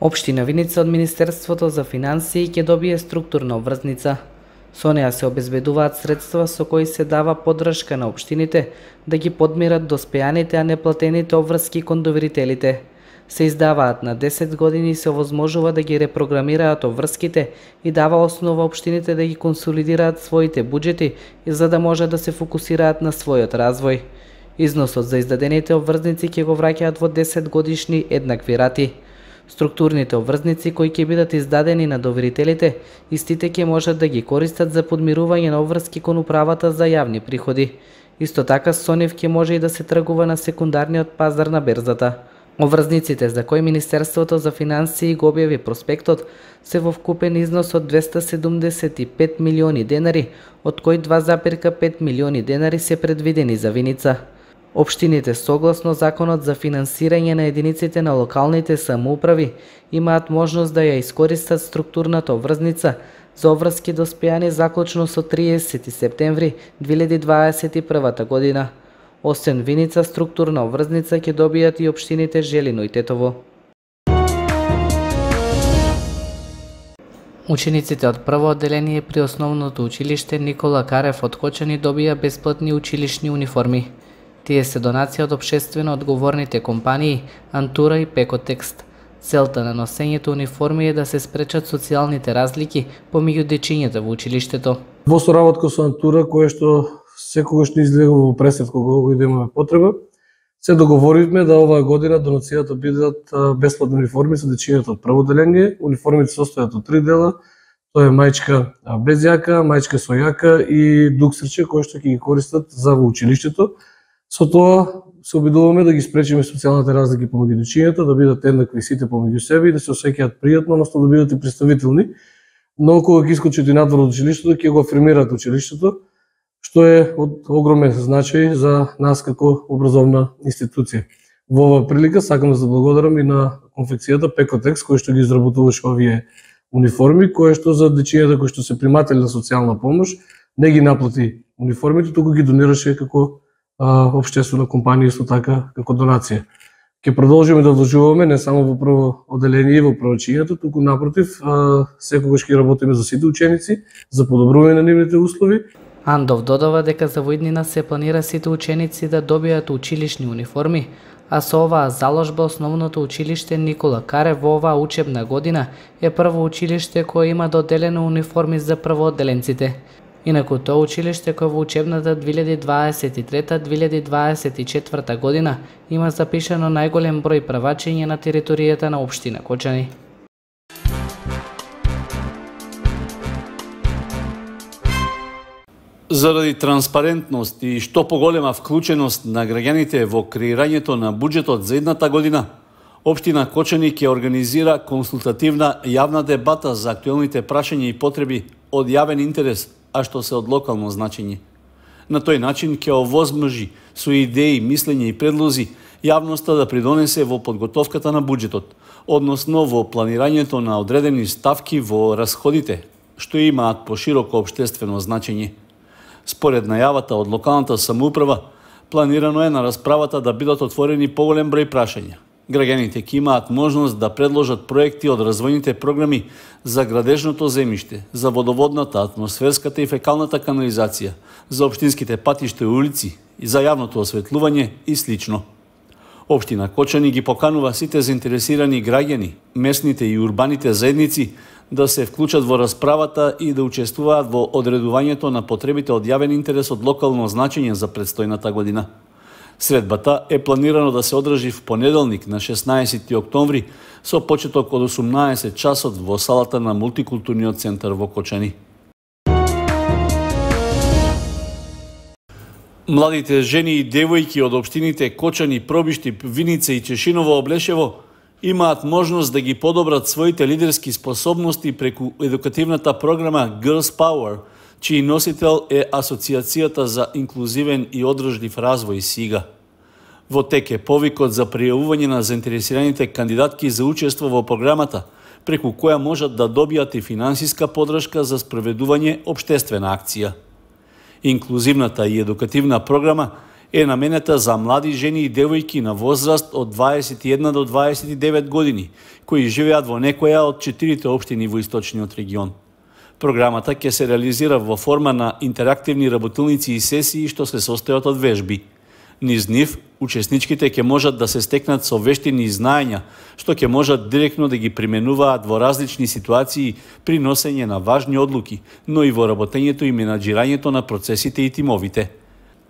Општина Виница од Министерството за финансии ќе добие структурна обврзница. Со неа се обезбедуваат средства со кои се дава поддршка на општините да ги подмират доспеаните, а неплатените обврски кон доверителите. Се издаваат на 10 години и се овозможува да ги репрограмираат обврските и дава основа општините да ги консолидираат своите буџети и за да може да се фокусираат на својот развој. Износот за издадените обврзници ќе го враќаат во 10 годишни еднакви рати. Структурните обврзници кои ќе бидат издадени на доверителите, истите ќе можат да ги користат за подмирување на обврски кон управата за јавни приходи. Исто така со нив ќе може и да се тргува на секундарниот пазар на берзата. Обврзниците за кои Министерството за финансии го објави проспектот се во вкупен износ од 275 милиони денари, од кои 2,5 милиони денари се предвидени за Виница. Општините согласно Законот за финансирање на единиците на локалните самоуправи имаат можност да ја искористат структурната обврзница за обврски доспеани заклучно со 30 септември 2021 година. Освен Виница, структурна обврзница ќе добијат и општините Желино и Тетово. Учениците од прво одделение при основното училиште Никола Карев од Кочани добија бесплатни училишни униформи. Тие се донација од општествено одговорните компании Антура и Пекотекст. Целта на носењето униформи е да се спречат социјалните разлики помеѓу дечињата во училиштето. Во соработка со Антура, кое што секогаш не излегува во пресет кога да имаме потреба, се договоривме да оваа година донацијата бидат бесплатни униформи за дечињата од прво одделение. Униформите се состојат од 3 дела. Тоа е маичка без јака, маичка со јака и дуксерче кои што ќе ги користат за во училиштето. Со тоа се обидуваме да ги спречиме социјалните разлики помеѓу дечињата, да бидат еднакви сите помеѓу себе и да се осеќаат пријатно, односно да бидат и представителни. Но кога ќе искочат и надвор од училиштето, ќе го афирмираат училиштето, што е од огромен значај за нас како образовна институција. Во оваа прилика сакам да се благодарам и на конфекцијата Пекотекст кој што ги изработуваше овие униформи, кој што за дечињата кои што се приматели на социјална помош не ги наплати униформите, туку ги донираше како општествена компанија, исто така како донација. Ќе продолжиме да вложуваме не само во прво одделение и во првачињата, туку напротив, секогаш ќе работиме за сите ученици, за подобрување на нивните услови. Андов додава дека за во иднина се планира сите ученици да добијат училишни униформи, а со оваа заложба основното училиште Никола Карев во оваа учебна година е прво училиште кое има доделено униформи за првоодделенците. Инаку тоа училиште кое во учебната 2023-2024 година има запишано најголем број правачења на територијата на општина Кочани. Заради транспарентност и што поголема вклученост на граѓаните во креирањето на буџетот за едната година, општина Кочани ќе организира консултативна јавна дебата за актуелните прашања и потреби од јавен интерес, а што се од локално значење. На тој начин ќе овозможи со идеи, мислења и предлози јавноста да придонесе во подготовката на буџетот, односно во планирањето на одредени ставки во расходите, што имаат пошироко општествено значење. Според најавата од локалната самоуправа, планирано е на расправата да бидат отворени поголем број прашања. Граѓаните ќе имаат можност да предложат проекти од развојните програми за градежното земјиште, за водоводната, атмосферската и фекалната канализација, за општинските патишта и улици, и за јавното осветлување и слично. Општина Кочани ги поканува сите заинтересирани граѓани, местните и урбаните заедници да се вклучат во расправата и да учествуваат во одредувањето на потребите од јавен интерес од локално значење за предстојната година. Средбата е планирано да се одржи в понеделник на 16 октомври со почеток од 18 часот во салата на Мултикултурниот центар во Кочани. Младите жени и девојки од општините Кочани, Пробишти, Виница и Чешиново Облешево имаат можност да ги подобрат своите лидерски способности преку едукативната програма Girls Power, чиј носител е Асоцијацијата за инклузивен и одржлив развој СИГА. Во тек е повикот за пријавување на заинтересираните кандидатки за учество во програмата, преку која можат да добијат и финансиска поддршка за спроведување општествена акција. Инклузивната и едукативна програма е наменета за млади жени и девојки на возраст од 21 до 29 години, кои живеат во некоја од 4 општини во источниот регион. Програмата ќе се реализира во форма на интерактивни работилници и сесии што се состојат од вежби. Низ нив, учесничките ќе можат да се стекнат со вештини и знаења, што ќе можат директно да ги применуваат во различни ситуации при носење на важни одлуки, но и во работењето и менаџирањето на процесите и тимовите.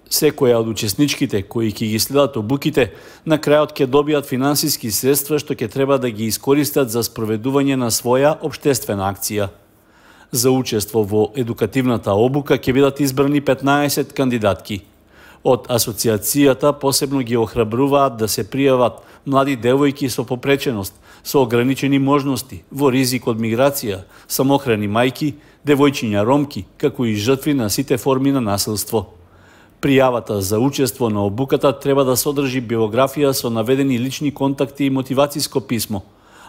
Секоја од учесничките кои ќе ги следат обуките, на крајот ќе добијат финансиски средства што ќе треба да ги искористат за спроведување на своја општествена акција. За учество во едукативната обука ќе бидат избрани 15 кандидатки. Од асоциацијата посебно ги охрабруваат да се пријават млади девојки со попреченост, со ограничени можности, во ризик од миграција, самохрани мајки, девојчиња ромки, како и жртви на сите форми на насилство. Пријавата за учество на обуката треба да содржи биографија со наведени лични контакти и мотивациско писмо,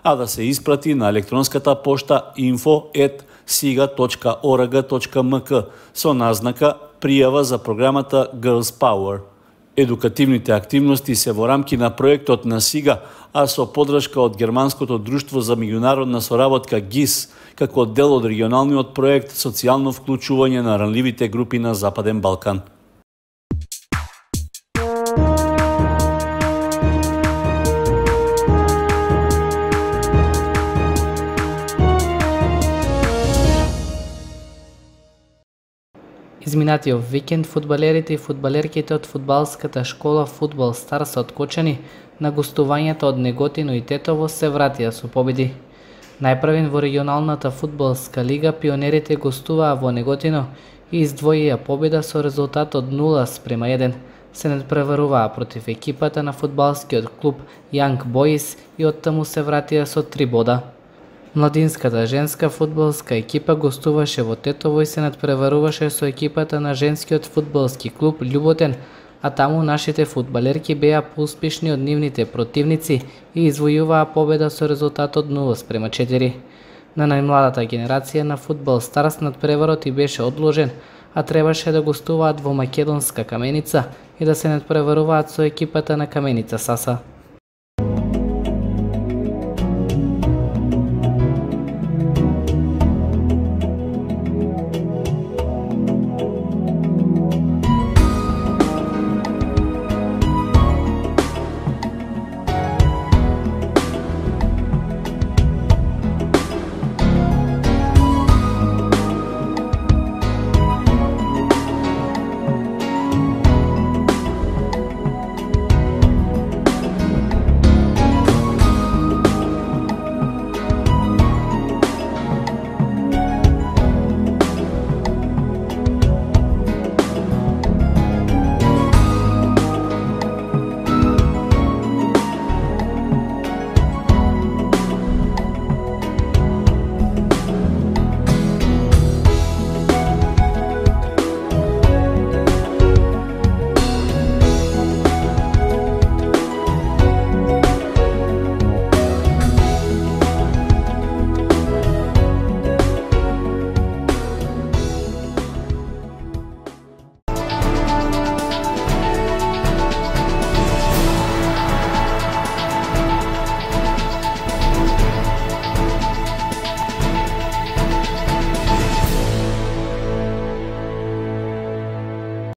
а да се испрати на електронската пошта info@siga.org.mk со назнака пријава за програмата Girls Power. Едукативните активности се во рамки на проектот на СИГА, а со подршка од Германското друштво за меѓународна соработка ГИС, како дел од регионалниот проект Социјално вклучување на ранливите групи на Западен Балкан. Изминатиот викенд фудбалерите и фудбалерките од фудбалската школа Фудбал Старс од Кочани на гостувањето од Неготино и Тетово се вратија со победи. Најпрвен во регионалната фудбалска лига пионерите гостуваа во Неготино и издвоија победа со резултат од 0:1. Се надпреваруваа против екипата на фудбалскиот клуб Young Boys и оттаму се вратија со 3 бода. Младинската женска фудбалска екипа гостуваше во Тетово и се надпреваруваше со екипата на женскиот фудбалски клуб Љуботен, а таму нашите фудбалерки беа поуспешни од нивните противници и извојуваа победа со резултат од 0:4. На најмладата генерација на Фудбал Старс надпреварот и беше одложен, а требаше да гостуваат во македонска Каменица и да се надпреваруваат со екипата на Каменица Саса.